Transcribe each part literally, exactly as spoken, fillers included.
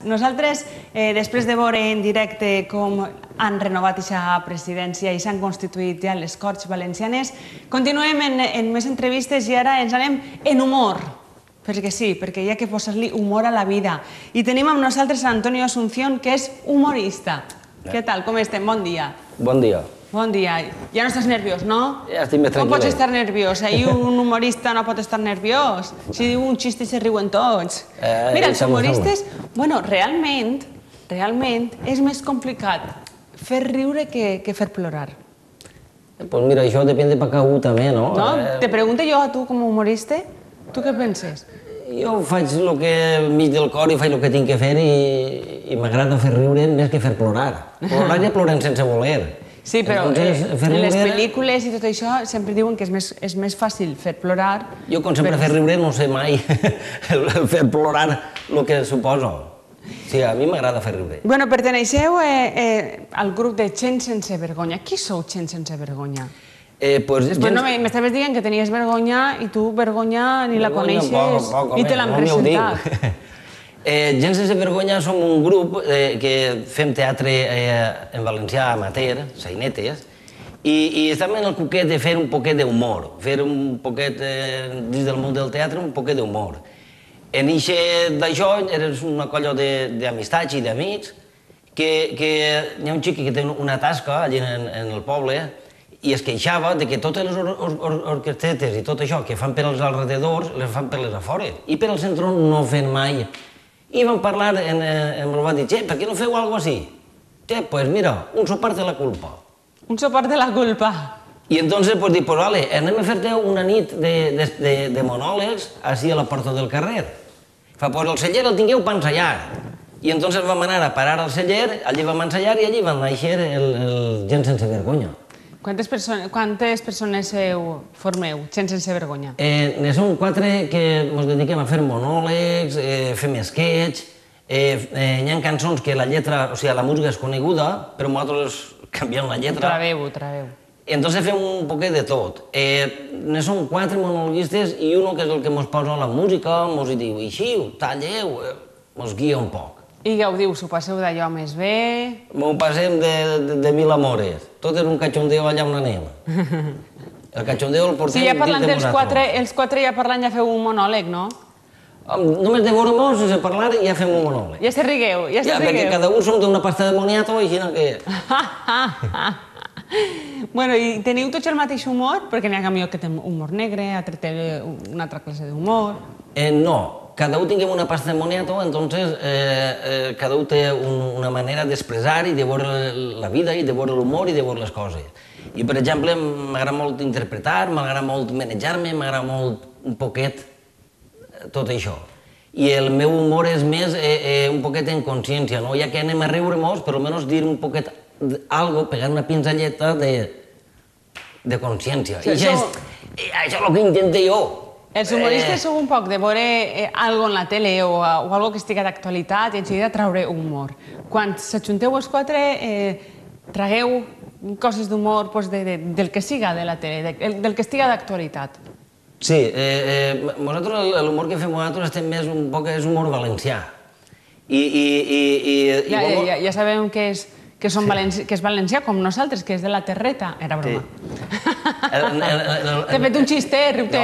Nosaltres, després de veure en directe com han renovat aquesta presidència i s'han constituït ja les Corts Valencianes, continuem en més entrevistes i ara ens anem en humor. Perquè sí, perquè hi ha que posar-li humor a la vida. I tenim amb nosaltres Antonio Asunción, que és humorista. Què tal, com estem? Bon dia. Bon dia. Bon dia. Ja no estàs nerviós, no? Ja estic més tranquil·let. Com pots estar nerviós? Ahir un humorista no pot estar nerviós. Si diu un xiste se riuen tots. Mira, els humoristes... Bueno, realment, realment és més complicat fer riure que fer plorar. Doncs mira, això depèn de per cadascú també, no? No? Te pregunto jo a tu com a humorista, tu què penses? Jo faig el que mig del cor i faig el que tinc que fer i m'agrada fer riure més que fer plorar. Plorar ja ploren sense voler. Sí, però en les pel·lícules i tot això sempre diuen que és més fàcil fer plorar. Jo, com sempre, fer riure no sé mai fer plorar el que suposo. Sí, a mi m'agrada fer riure. Bueno, perteneixeu al grup de Gent Sense Vergonya. Qui sou Gent Sense Vergonya? Després m'estaves dient que tenies vergonya i tu vergonya ni la coneixes ni te l'han presentat. Gent Sense Vergonya som un grup que fem teatre en valencià amateur, sainetes, i estem en el cuquet de fer un poquet d'humor, fer un poquet, dins del món del teatre, un poquet d'humor. En ixe d'això eres una colla d'amistats i d'amics que hi ha un xic que té una tasca allà en el poble i es queixava que totes les orquestretes i tot això que fan per als alrededors les fan per les afores i per al centre no fan mai. I vam parlar, em va dir, che, per què no feu alguna cosa així? Che, doncs mira, un sopart de la culpa. Un sopart de la culpa. I entonces pues dic, pues vale, anem a fer-te una nit de monòlegs així a la porta del carrer. Fa, pues el celler el tingueu per ensaiar. I entonces vam anar a parar al celler, allí vam ensaiar i allí van néixer el Gent Sense Vergonya. Quantes persones formeu, Gent Sense Vergonya? Ne som quatre que ens dediquem a fer monòlegs, fem sketch, hi ha cançons que la lletra, o sigui, la música és coneguda, però nosaltres canviem la lletra. Traveu, traveu. Entonces fem un poquet de tot. Ne som quatre monologuistes i un que és el que ens posa la música, ens diu, ixiu, talleu, ens guia un poc. I gaudiu, s'ho passeu d'allò més bé? M'ho passem de mil amores. Tot és un cachondeo allà on anem. El cachondeo el portem dins de nosaltres. Sí, ja parlant dels quatre ja parlant ja feu un monòleg, no? Només de veure-nos, sense parlar, ja fem un monòleg. Ja se rigueu, ja se rigueu. Perquè cada un som d'una pasta de moniato, així que... Bueno, i teniu tots el mateix humor? Perquè n'hi ha camió que té humor negre, altre té una altra classe d'humor. No. Cada un tinguem una pasta de moniato, entonces cada un té una manera d'expressar i de veure la vida i de veure l'humor i de veure les coses. I, per exemple, m'agrada molt interpretar, m'agrada molt manejar-me, m'agrada molt un poquet tot això. I el meu humor és més un poquet en consciència, no? Ja que anem a riure molt, per almenys dir un poquet algo, pegar una pinzelleta de consciència. I això és el que intento jo. Els humoristes sou un poc de veure alguna cosa en la tele o alguna cosa que estigui d'actualitat i en seguida traure humor. Quan s'ajunteu els quatre, tragueu coses d'humor del que siga de la tele, del que estigui d'actualitat. Sí, l'humor que fem nosaltres estem més un poc és humor valencià. Ja sabem que és que és valencià com nosaltres, que és de la terreta. Era broma. T'he fet un xiste, riu-te.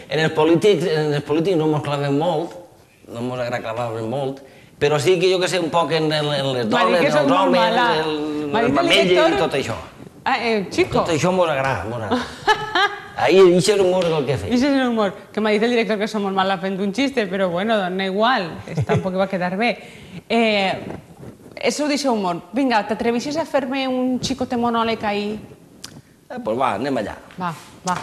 En els polítics no ens clavem molt, no ens agrada clavar-nos molt, però sí que jo que sé un poc en les dones, els homes, el mamell i tot això. Chico. Tot això ens agrada. Ahí, això és l'humor del que fem. Això és l'humor. Que m'ha dit el director que som molt mala fent un xiste, però bueno, dona igual, tampoc va quedar bé. Això ho deixa humor. Vinga, t'atreveixes a fer-me un xicote monòleg ahir? Doncs va, anem allà. Va, va.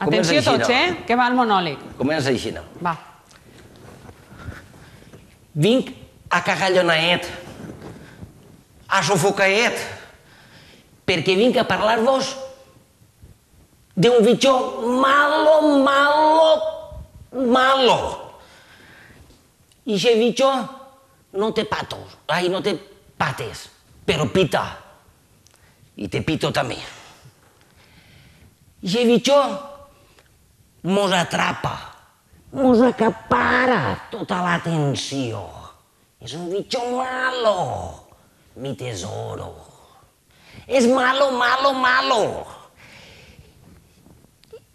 Atenció tots, eh? Que va el monòleg. Comença així. Va. Vinc a cagallonaet, a sofocaet, perquè vinc a parlar-vos d'un bitxó malo, malo, malo. I aquest bitxó no té patos, ai, no té pates, però pita. I te pito també. I aquest bitxó mos atrapa, mos acapara tota l'atenció. És un bicho malo, mi tesoro. És malo, malo, malo.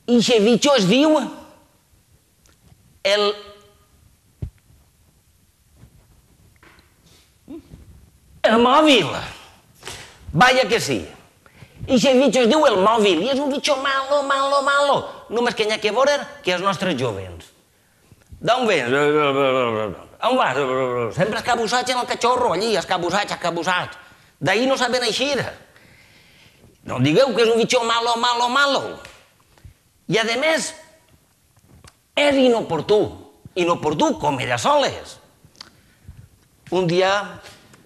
I aquest bicho es diu el... el mòbil. Vaya que sí. I aquest bicho es diu el mòbil, i és un bicho malo, malo, malo. Només que n'hi ha que veure que els nostres jovens. D'on vens? On vas? Sempre escabussats en el cachorro, allí, escabussats, escabussats. D'ahir no saben eixir. No digueu que és un bicho malo, malo, malo. I, a més, és inoportú. Inoportú com ella soles. Un dia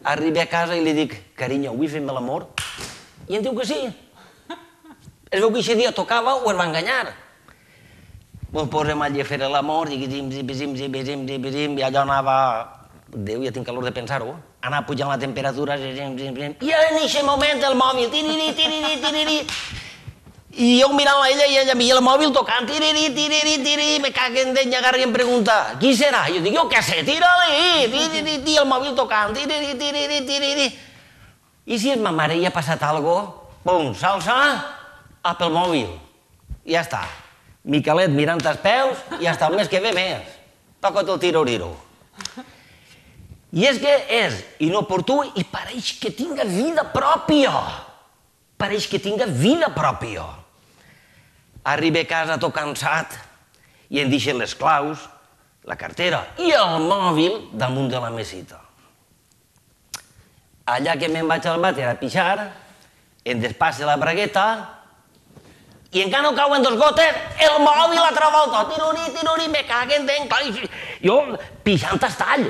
arribo a casa i li dic, carinyo, avui fem l'amor? I em diu que sí. Es veu que aquest dia tocava o es va enganyar. Ens posem allà a fer l'amor, i zim, zim, zim, zim, zim, zim, zim, i allò anava... Déu, ja tinc calor de pensar-ho. Anava pujant la temperatura, zim, zim, zim, i en aquest moment el mòbil, tiriri, tiriri, tiriri, i jo mirant a ella i ella a mi el mòbil tocant, tiriri, tiriri, tiriri, me caguen d'ell, agarra i em pregunta, qui serà? Jo dic, jo què sé, tira-li, tiriri, i el mòbil tocant, tiriri, tiriri, tiriri. I si és ma mare i ha passat alguna cosa, pum, salsa, a pel mòbil. I ja està. Miquelet mirant els peus i hasta el mes que ve més. Toca-te el tiro-riro. I és que és inoportú i pareix que tinga vida pròpia. Pareix que tinga vida pròpia. Arriba a casa tot cansat i em deixen les claus, la cartera i el mòbil damunt de la mesita. Allà que me'n vaig al vàter a pixar, em despasse la bragueta i encara no cauen dos gotes, el mòbil altra volta, tiruri, tiruri, me caguen dent, jo pixant estall,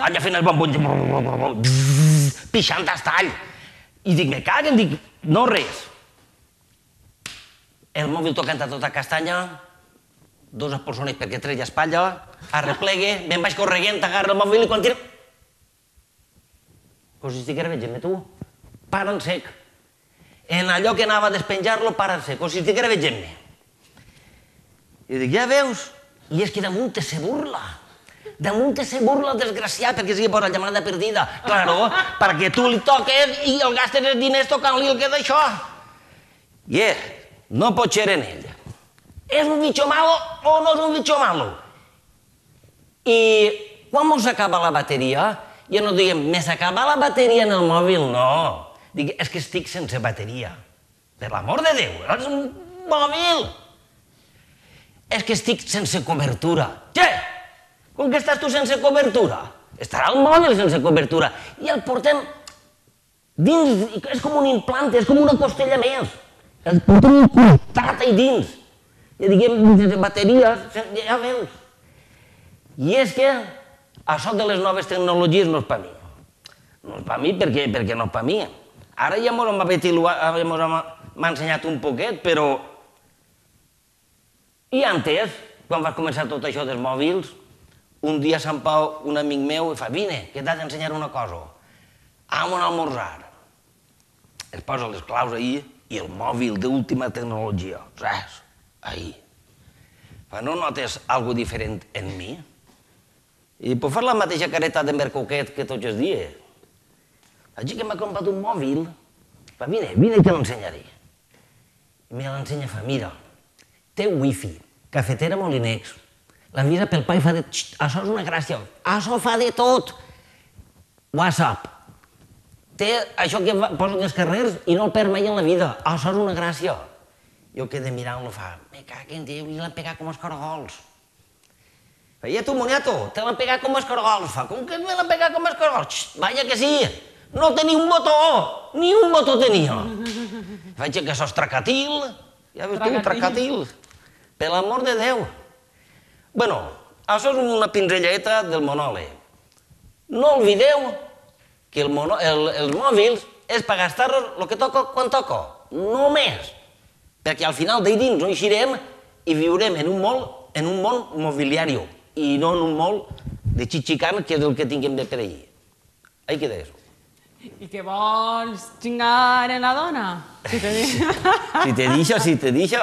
allà fent el bombon, pixant estall, i dic, me caguen, dic, no res. El mòbil tocant a tota castanya, dos persones perquè treia espatlla, arreplegue, me'n vaig correguent, agarra el mòbil i quan tira... Com si estiguera veient-me, tu, para en sec. En allò que anava a despenjar-lo, para en sec, com si estiguera veient-me. I dic, ja veus? I és que damunt se burla. Damunt se burla el desgraciat perquè sigui per la llamada perdida. Claro, perquè tu li toques i el gastes els diners tocant-li el que d'això. I és, no pot ser en ell. És un bicho malo o no és un bicho malo? I quan mos acaba la bateria, ja no diem, me s'acaba la bateria en el mòbil, no. Dic, és que estic sense bateria. Per l'amor de Déu, és un mòbil. És que estic sense cobertura. Què? Com que estàs tu sense cobertura? Estarà el mòbil sense cobertura. I el portem dins, és com un implant, és com una costella més. El portem connectat ahí dins. Ja diguem, sense bateries, ja veus. I és que això de les noves tecnologies no és per mi. No és per mi perquè no és per mi. Ara ja m'ha ensenyat un poquet, però... I antes, quan vas començar tot això dels mòbils, un dia Sant Pau, un amic meu, i fa, vine, que t'has d'ensenyar una cosa. Anem a almorzar. Es posa les claus ahí i el mòbil d'última tecnologia. Saps? Ahí. Fa, no notes alguna diferent en mi? I puc fer la mateixa careta de mercoquet que tots els dies. Així que m'ha comprat un mòbil, fa, vine, vine que l'ensenyaré. I me l'ensenya, fa, mira, té wifi, cafetera Molinex, l'envisa pel pa i fa de... Això és una gràcia, això fa de tot. WhatsApp. Té això que posen els carrers i no el perd mai en la vida. Això és una gràcia. Jo quedé mirant-lo, fa, me cago en Déu, li l'han pegat com els caragols. I tu, moniato, te l'han pegat com els caragols. Fa, com que me l'han pegat com els caragols? Vaya que sí, no tenia un botó, ni un botó tenia. Vaig que això és tracatil, ja veus tu, tracatil. Per l'amor de Déu. Bueno, això és una pinzelleta del monòleg. No oblideu que els mòbils és per gastar-los el que toca quan toca, no més. Perquè al final d'ahir dins no eixirem i viurem en un món mobiliari i no en un món de xitxicant, que és el que tinguem de per ahir. Ahí queda eso. I què vols xingar en la dona? Si te deixa, si te deixa.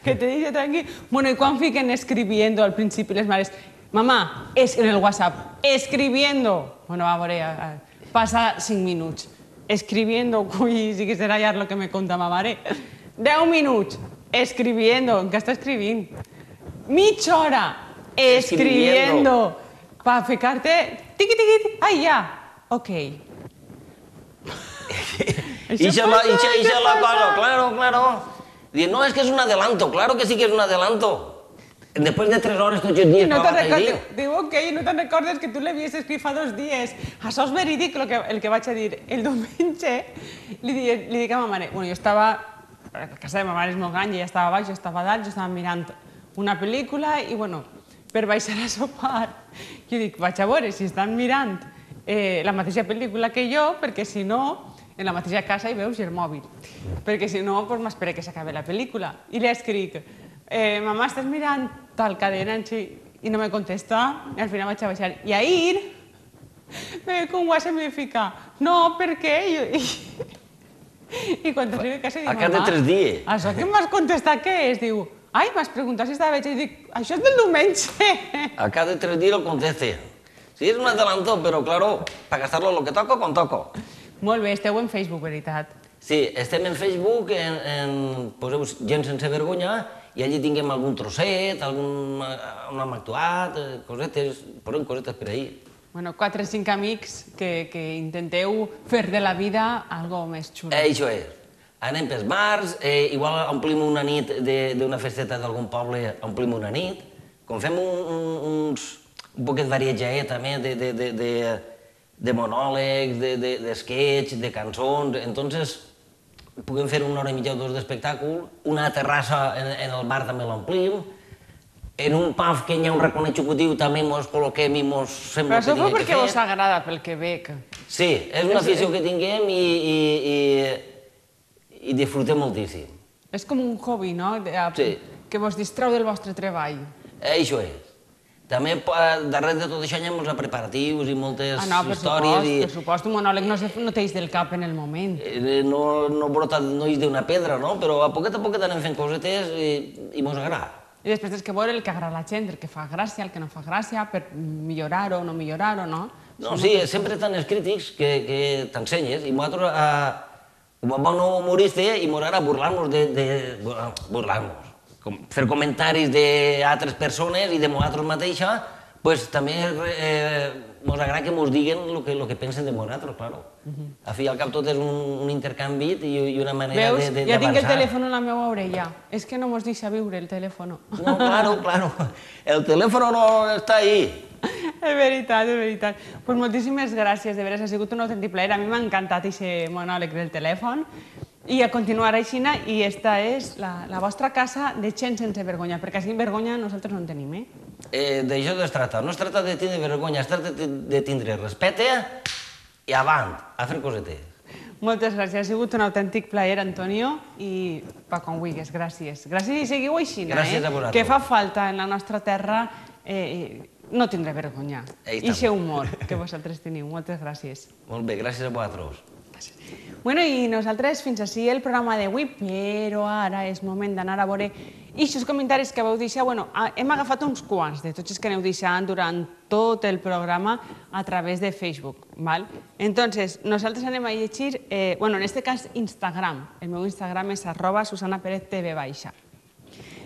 Que te deixa tranquil. Bueno, i quan fiquen escribiendo al principi les mares? Mamà, en el WhatsApp, escribiendo. Bueno, va, a veure, passa cinc minuts. Escribiendo, ui, sí que serà ja el que me conta ma mare. Deu minuts, escribiendo, què està escrivint? Mitja hora, escribiendo. Pa ficar-te, tiqui, tiqui, ai, ja, ok. Ixa la cosa, claro, claro. Diu, no, és que és un adelanto, claro que sí que és un adelanto. Després de tres hores tots els dies no diu, ok, no te'n recordes que tu l'havies escrit fa dos dies. Això és verídic el que vaig a dir. El diumenge li dic a ma mare, bueno, jo estava, a casa de ma mare és molt gran, ella estava baix, jo estava dalt, jo estava mirant una pel·lícula i, bueno, per baixar a sopar, jo dic, vaig a veure si estan mirant la mateixa pel·lícula que jo, perquè si no, en la mateixa casa hi veus el mòbil. Perquè si no, m'espera que s'acabi la pel·lícula. I li escric, mamà, estàs mirant tal cadena? I no me contesta, i al final vaig a baixar. I ahir, me ve con WhatsApp i me fica, no, per què? I quan t'arriba a casa dic, mamà... A cada tres dies. Això que m'has contestat què és? Diu, ai, m'has preguntat si estava veig. I dic, això és del diumenge. A cada tres dies el conteste. Sí, és un adelanto, però, claro, per gastar-lo lo que toco, quan toco. Molt bé, esteu en Facebook, veritat? Sí, estem en Facebook, poseu Gent sense vergonya, i allí tinguem algun trosset, on hem actuat, cosetes, posem cosetes per ahir. Bueno, quatre o cinc amics que intenteu fer de la vida algo més xulo. Això és. Anem pels bars, igual omplim una nit d'una festeta d'algun poble, omplim una nit, com fem un poquet varietjaet també de monòlegs, d'esquets, de cançons, entonces puguem fer una hora i mitja o dos d'espectàcul, una terrassa en el bar també l'omplim, en un pub que hi ha un raconet executiu també mos col·loquem i mos sembla que tinguem que fer. Però això fou perquè vos agrada, pel que veig. Sí, és una afició que tinguem i disfrutem moltíssim. És com un hobby, no? Sí. Que vos distreu del vostre treball. Això és. També darrere de tot això hi ha molts preparatius i moltes històries. Ah, no, per supost, un monòleg no t'eix del cap en el moment. No brota, no és d'una pedra, no? Però a poquet a poquet anem fent cosetes i mos agrada. I després tens que veure el que agrada a la gent, el que fa gràcia, el que no fa gràcia, per millorar-ho o no millorar-ho, no? No, sí, sempre estan els crítics que t'ensenyes i nosaltres, com a bon humorista, i mos agrada burlar-nos de... burlar-nos. Fer comentaris d'altres persones i de nosaltres mateixa, doncs també mos agrada que mos diguen el que pensen de nosaltres, claro. A fi i al cap tot és un intercanvi i una manera d'avançar. Veus? Ja tinc el telèfon a la meva orella. És que no mos deixa viure el telèfon. No, claro, claro. El telèfon no està ahí. És veritat, és veritat. Doncs moltíssimes gràcies, de veres, ha sigut un autèntic plaer. A mi m'ha encantat aquest monòleg del telèfon. I a continuar així, i esta és la vostra casa de gent sense vergonya, perquè així vergonya nosaltres no en tenim, eh? D'això es tracta. No es tracta de tindre vergonya, es tracta de tindre respecte i avant, a fer cosetes. Moltes gràcies. Ha sigut un autèntic plaer, Antonio, i pa quan vulguis, gràcies. Gràcies i seguiu així, eh? Gràcies a vosaltres. Que fa falta en la nostra terra no tindre vergonya. I aquest humor que vosaltres teniu. Moltes gràcies. Molt bé, gràcies a vosaltres. Bueno, i nosaltres fins així el programa d'avui, però ara és moment d'anar a veure aquests comentaris que vau deixar. Bueno, hem agafat uns quants de tots els que aneu deixant durant tot el programa a través de Facebook, val? Entonces, nosaltres anem a llegir, bueno, en este cas, Instagram. El meu Instagram és arroba Susana Pérez T V baixa.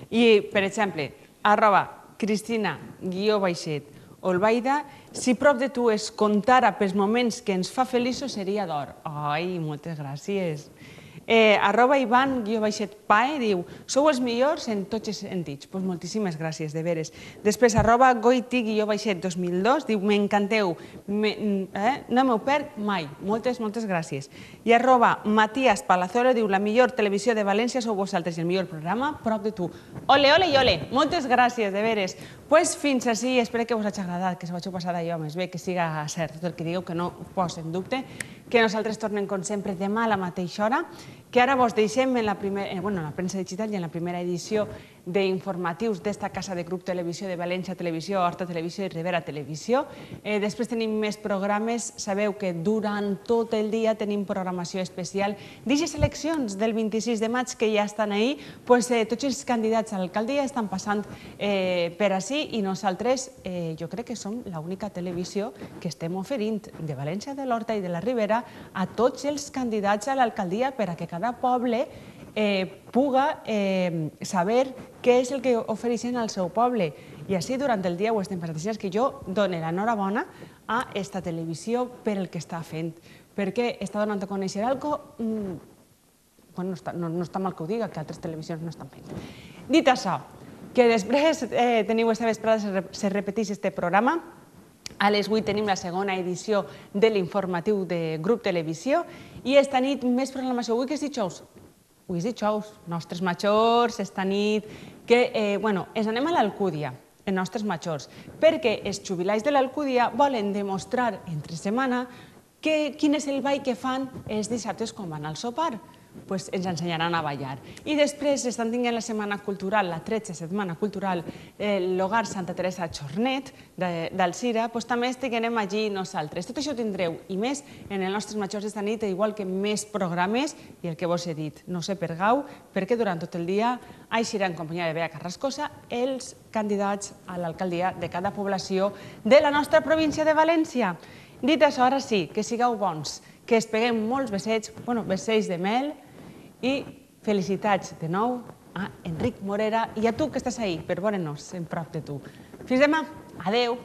I, per exemple, arroba Cristina guió baixet Olbaida, si prop de tu es comptara pels moments que ens fa feliços seria d'or. Ai, moltes gràcies. Arroba Ivan guió baixet Pae diu, sou els millors en tots els sentits. Doncs moltíssimes gràcies, de veres. Després, arroba Goiti guió baixet dos mil dos diu, m'encanteu, no m'ho perd mai. Moltes, moltes gràcies. I arroba Matías Palazolo diu, la millor televisió de València sou vosaltres i el millor programa prop de tu. Ole, ole i ole. Moltes gràcies, de veres. Doncs fins així, espero que us hagi agradat, que s'ho vaig passar d'allò més bé, que siga cert tot el que digueu, que no ho poso en dubte, que nosaltres tornem com sempre demà a la mateixa hora que ara vos deixem en la premsa digital i en la primera edició d'informatius d'esta casa de Grup Televisió, de València Televisió, Horta Televisió i Ribera Televisió. Després tenim més programes. Sabeu que durant tot el dia tenim programació especial d'aquestes eleccions del vint-i-sis de maig que ja estan ahí. Tots els candidats a l'alcaldia estan passant per ací i nosaltres jo crec que som l'única televisió que estem oferint de València, de l'Horta i de la Ribera a tots els candidats a l'alcaldia per a que cada poble puga saber què és el que ofereixen al seu poble. I així durant el dia ho estem passant. Així que jo dono l'enhorabona a esta televisió per el que està fent, perquè està donant a conèixer alguna cosa, no està mal que ho diga, que altres televisions no estan fent. Dit això, que després teniu esta vesprada, se repeteix este programa. A les vuit tenim la segona edició de l'informatiu de Grup Televisió i esta nit més programació. Avui que és dijous? Avui és dijous, nostres majors, esta nit, que, bueno, ens anem a l'Alcúdia, els nostres majors, perquè els jubilats de l'Alcúdia volen demostrar entre setmana quin és el ball que fan els dissabtes quan van al sopar. Doncs ens ensenyaran a ballar. I després estan tinguent la setmana cultural, la tretze setmana cultural, l'Hogar Santa Teresa Chornet d'Alzira, doncs també estiguem allí nosaltres. Tot això ho tindreu, i més, en els nostres majors d'esta nit, igual que més programes, i el que vos he dit, no sé per gau, perquè durant tot el dia eixiran en companyia de Bea Carrascosa els candidats a l'alcaldia de cada població de la nostra província de València. Dit això, ara sí, que sigueu bons, que es peguem molts besets, bueno, besets de mel, i felicitats de nou a Enric Morera i a tu que estàs ahí, per veure'ns en prop de tu. Fins demà. Adeu.